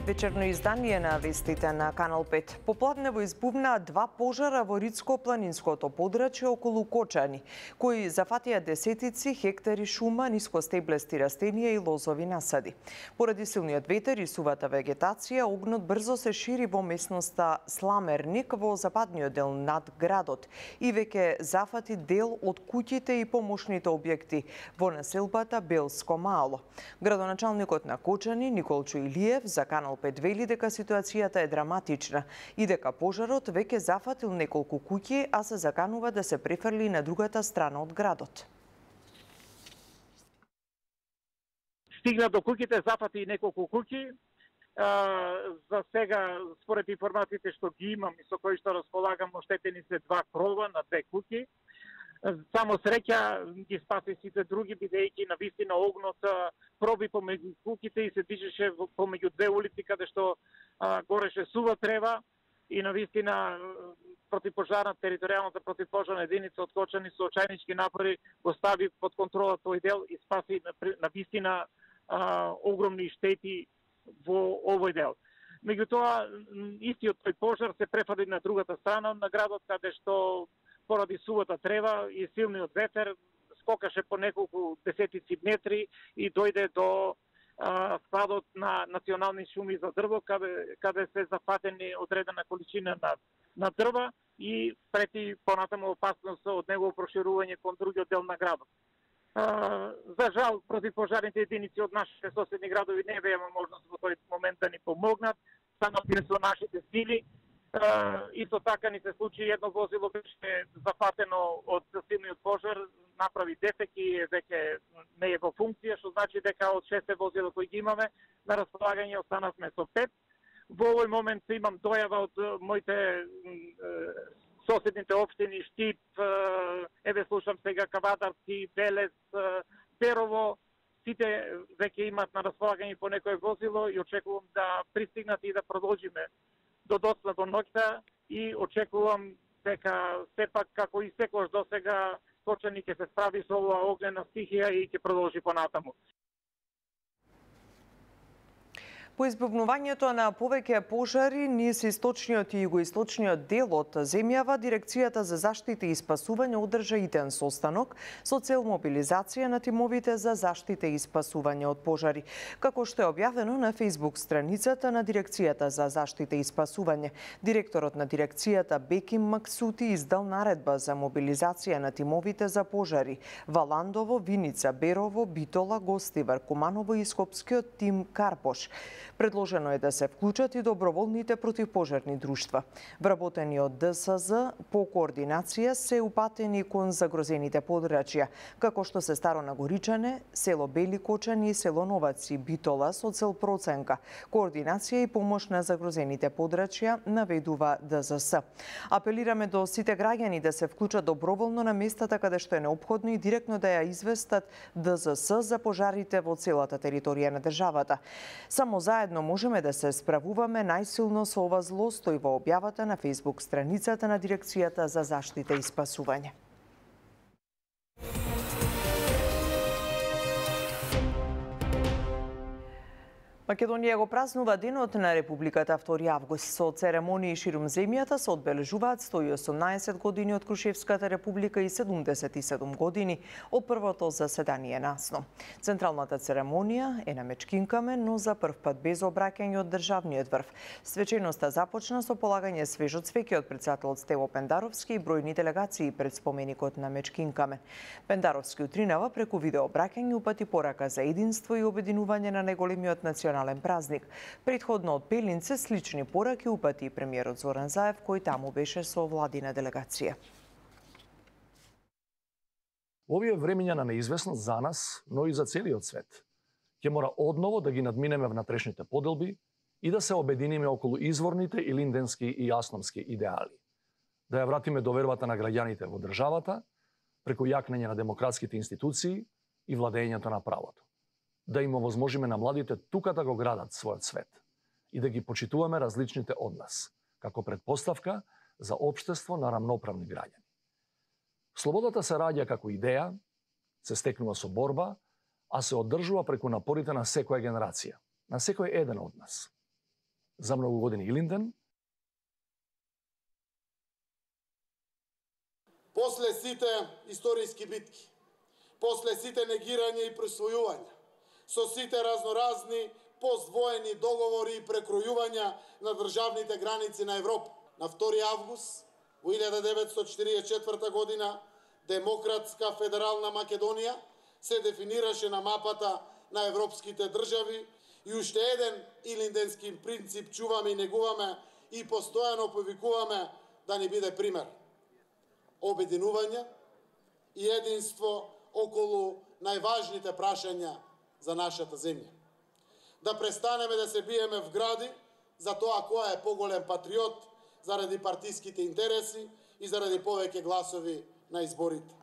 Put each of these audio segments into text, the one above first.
Вечерно издание на вестите на Канал 5. Попладнево избувнаа два пожара во Рицко-планинското подрачје околу Кочани, кои зафатија десетици хектари шума, нискостеблести растенија и лозови насади. Поради силниот ветер и сувата вегетација, огнот брзо се шири во местноста Сламерник во западниот дел над градот и веќе зафати дел од куќите и помошните објекти во населбата Белско Мало. Градоначалникот на Кочани Николчо Илиев за Канал 5 вели дека ситуацијата е драматична и дека пожарот веќе зафатил неколку куќи, а се заканува да се префрли на другата страна од градот. Стигна до куќите, зафати неколку куќи. За сега, според информациите што ги имам и со кои што располагам, оштетени се два крова на две куќи. Само среќа ги спаси сите други, бидејќи навистина огнот проби помеѓу куќите и се движеше помеѓу две улици каде што гореше сува трева и навистина територијалната противпожарна единица од Кочани со очајнички напори го стави под контрола тој дел и спаси навистина огромни штети во овој дел. Меѓутоа, истиот тој пожар се префади на другата страна на градот, каде што поради сувата трева и силниот ветер скокаше по неколку десетици метри и дојде до складот на национални шуми за дрво, каде се зафатени одредена количина на дрва и прети понатаму опасност од негово проширување кон другиот дел на градот. За жал, противпожарните единици од нашите соседни градови не беа можност во тој момент да ни помогнат, станати со нашите сили. Исто така ни се случи едно возило беше зафатено од силниот пожар, направи дефект и веќе не е во функција, што значи дека од 6 возила кои ги имаме на располагање останавме со 5. Во овој момент имам дојава од моите соседните општини Штип, еве слушам сега Кавадарци, Белес, Перово, сите веќе имат на располагање по некое возило и очекувам да пристигнат и да продолжиме до доцна до ноќта и очекувам дека сепак како и секојаш досега Кочани ќе се справи со оваа огнена стихија и ќе продолжи понатаму. По избавнувањето на повеќе пожари низ источниот и југоисточниот дел од земјава, Дирекцијата за заштита и спасување одржа иден состанок со цел мобилизација на тимовите за заштита и спасување од пожари. Како што е објавено на Facebook страницата на Дирекцијата за заштита и спасување, директорот на дирекцијата Беким Максути издал наредба за мобилизација на тимовите за пожари Валандово, Виница, Берово, Битола, Гостивар, Куманово и Скопскиот тим Карпош. Предложено е да се вклучат и доброволните противпожарни друштва. Вработени од ДСЗ по координација се упатени кон загрозените подрачја, како што се Старо Нагоричане, село Бели Кочани и село Новаци, Битола со цел проценка, координација и помош на загрозените подрачја, наведува ДЗС. Апелираме до сите граѓани да се вклучат доброволно на местата каде што е неопходно и директно да ја известат ДЗС за пожарите во целата територија на државата. Само заедно можеме да се справуваме најсилно со ова зло, стои во објавата на Facebook страницата на Дирекцијата за заштита и спасување. Македонија го празнува Денот на Републиката 2 август. Со церемонии ширум земјата се одбележуваат 118 години од Крушевската република и 77 години од првото заседание на АСНО. Централната церемонија е на Мечкинкамен, но за прв пат без обраќање од државниот врв. Свеченоста започна со полагање свежо цвеќе од претседателот Стево Пендаровски и бројни делегации пред споменикот на Мечкинкамен. Пендаровски утринава преку видеообраќање упати порака за единство и обединување на најголемиот национален празник. Предходно од Пелинце слични пораки упати и премиерот Зоран Заев, кој таму беше со владина делегација. Овие времења на неизвестност за нас, но и за целиот свет, ќе мора одново да ги надминеме внатрешните поделби и да се обединиме околу изворните и линденски и јасномски идеали. Да ја вратиме довербата на граѓаните во државата преку јакнење на демократските институции и владењето на правото. Да им овозможиме на младите тука да го градат својот свет и да ги почитуваме различните од нас, како предпоставка за општество на рамноправни граѓани. Слободата се раѓа како идеја, се стекнува со борба, а се одржува преку напорите на секоја генерација, на секој еден од нас. за многу години Илинден. После сите историски битки, после сите негирање и присвојувања, со сите разноразни поствоени договори и прекројувања на државните граници на Европа, на 2 август во 1944 година Демократска федерална Македонија се дефинираше на мапата на европските држави и уште еден илинденски принцип чуваме и негуваме и постојано повикуваме да ни биде пример. Обединување и единство околу најважните прашања за нашата земја. Да престанеме да се биеме в гради за тоа кој е поголем патриот заради партиските интереси и заради повеќе гласови на изборите.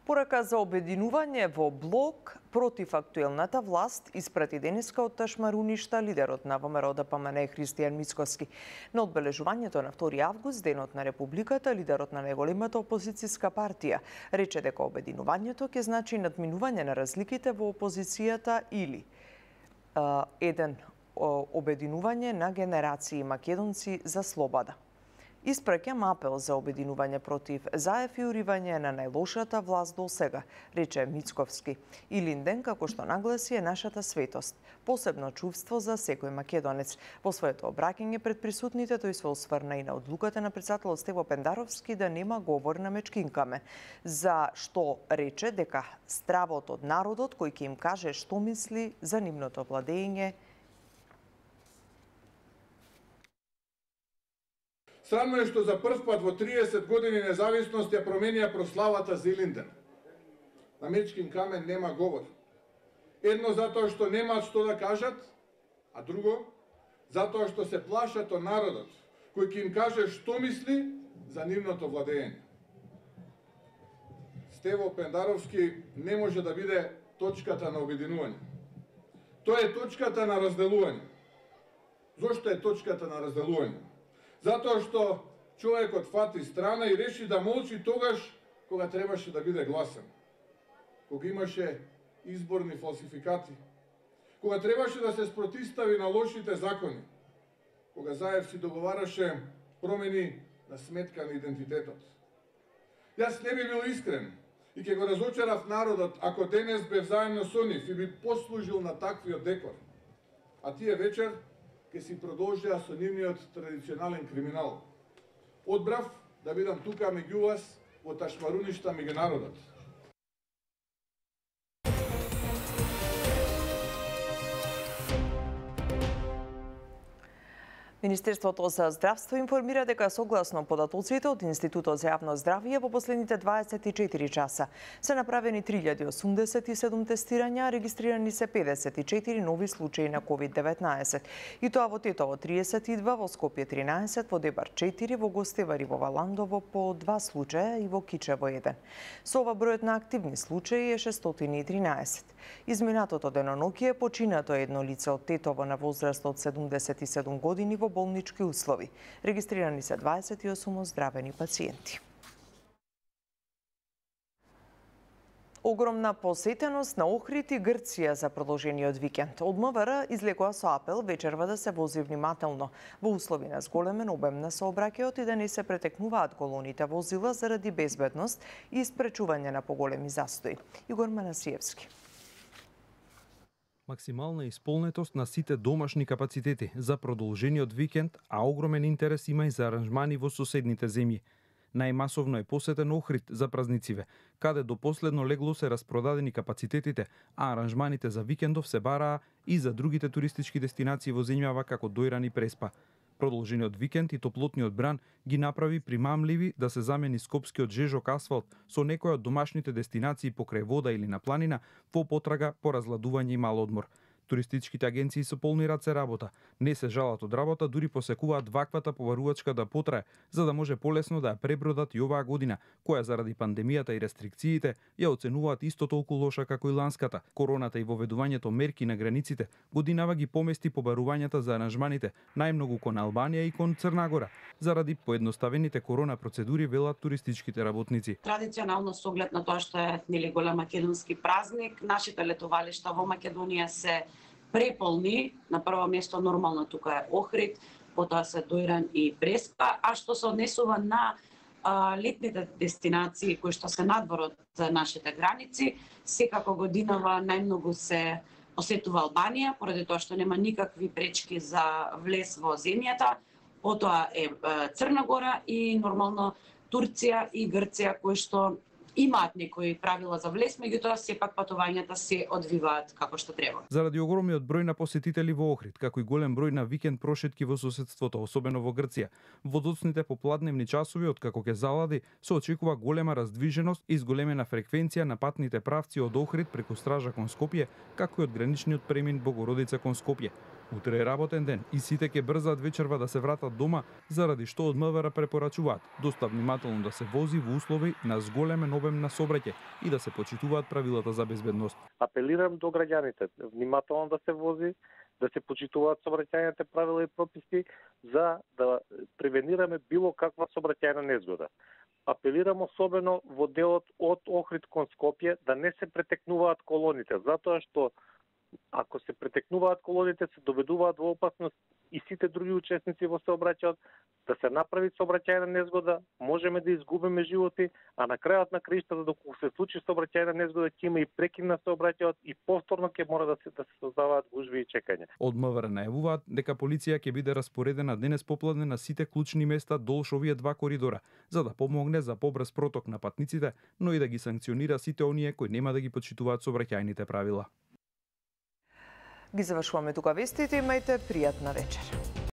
Порака за обединување во блок против актуелната власт испрати денеска од Ташмаруништа лидерот на ВМРО-ДПМН Христијан Мицкоски. На одбележувањето на 2 август, денот на Републиката, лидерот на најголемата опозицијска партија рече дека обединувањето ќе значи надминување на разликите во опозицијата или обединување на генерации македонци за слобода. Испраќам апел за обединување против заев и уривање на најлошата власт до сега, рече Мицковски. Илинден, како што нагласи, е нашата светост, посебно чувство за секој македонец. Во своето обраќање пред присутните тој се осврна и на одлуката на претседателот Стево Пендаровски да нема говор на мечкинкаме, за што рече дека стравот од народот кој ќе им каже што мисли за нивното владење. Срамно е што за прв пат во 30 години независност ја променија прославата за Илинден. На Мечкин камен нема говор. Едно затоа што немаат што да кажат, а друго затоа што се плашат од народот, кој ќе им каже што мисли за нивното владење. Стево Пендаровски не може да биде точката на обединување. Тој е точката на разделување. Зошто е точката на разделување? Затоа што човекот фати страна и реши да молчи тогаш кога требаше да биде гласен. Кога имаше изборни фалсификати. Кога требаше да се спротистави на лошите закони. Кога Заев си договараше промени на сметка на идентитетот. Јас не би бил искрен и ќе го разочарав народот ако денес бев заедно со нив и би послужил на таквиот декор. А тие вечер ќе си продолжија со нивниот традиционален криминал. Одбрав да бидам тука меѓу вас во Ташмаруништа меѓу народот. Министерството за здравство информира дека согласно податоците од Институтот за јавно здравје во последните 24 часа се направени 3087 тестирања, регистрирани се 54 нови случаи на COVID-19. И тоа во Тетово 32, во Скопје 13, во Дебар 4, во Гостевар и во Валандово по 2 случаја и во Кичево 1. Со ова бројот на активни случаи е 613. Изминатото деноноќе е починато едно лице од Тетово на возраст од 77 години во болнички услови. Регистрирани се 28 оздравени пациенти. Огромна посетеност на Охрид и Грција за продолжениот викенд. Од МВР излекува со апел вечерва да се вози внимателно во услови на зголемен обем на сообраќајот и да не се претекнуваат колоните возила заради безбедност и спречување на поголеми застои. Игор Манасиевски. Максимална исполнетост на сите домашни капацитети за продолжениот викенд, а огромен интерес има и за аранжмани во соседните земји. Најмасовно е посетен Охрид за празнициве, каде до последно легло се распродадени капацитетите, а аранжманите за викендов се бараа и за другите туристички дестинации во земјава како Дојран и Преспа. Продолжениот викенд и топлотниот бран ги направи примамливи да се замени скопскиот жежок асфалт со некои од домашните дестинации покрај вода или на планина во потрага по разладување и мал одмор. Туристичките агенции со полни раце работа. Не се жалат од работа, дури посекуваат ваквата побарувачка да потрае, за да може полесно да ја пребродат и оваа година, која заради пандемијата и рестрикциите ја оценуваат исто толку лоша како и ланската. Короната и воведувањето мерки на границите годинава ги помести побарувањата за аранжманите најмногу кон Албанија и кон Црна Гора, заради поедноставените корона процедури, велат туристичките работници. Традиционално со оглед на тоа што е голем македонски празник, нашите летовалишта во Македонија се преполни, на прво место нормално тука е Охрид, потоа се Дојран и Преспа, а што се однесува на летните дестинации кои што се надвор од нашите граници, секако годинава најмногу се посетува Албанија, поради тоа што нема никакви пречки за влез во земјата, потоа е Црна Гора и нормално Турција и Грција кои што имаат некои правила за влез, меѓутоа сепак патувањата се одвиваат како што треба. Заради огромниот број на посетители во Охрид, како и голем број на викенд прошетки во соседството, особено во Грција, во доцните попладневни часови откако ќе залади, се очекува голема раздвиженост и зголемена фреквенција на патните правци од Охрид преку Стража кон Скопје, како и од граничниот премин Богородица кон Скопје. Утре е работен ден и сите ќе брзаат вечерва да се вратат дома, заради што од МВР препорачуваат доста внимателно да се вози во услови на зголемен обем на сообраќај и да се почитуваат правилата за безбедност. Апелирам до граѓаните внимателно да се вози, да се почитуваат сообраќајните правила и прописи за да превенираме било каква сообраќајна незгода. Апелирам особено во делот од Охрид кон Скопје да не се претекнуваат колоните, затоа што ако се претекнуваат колоните, се доведуваат во опасност и сите други учесници во сообраќајот, да се направи сообраќајна незгода, можеме да изгубиме животи, а на крајот на краиштата доколку се случи сообраќајна незгода ќе има и прекин на сообраќајот и повторно ќе мора да се создаваат гужви и чекање. Од МВР најавуваат дека полиција ќе биде распоредена денес попладне на сите клучни места долж овие два коридора, за да помогне за побрз проток на патниците, но и да ги санкционира сите оние кои нема да ги почитуваат сообраќајните правила. Ги завршуваме тука вестите, имајте пријатна вечер.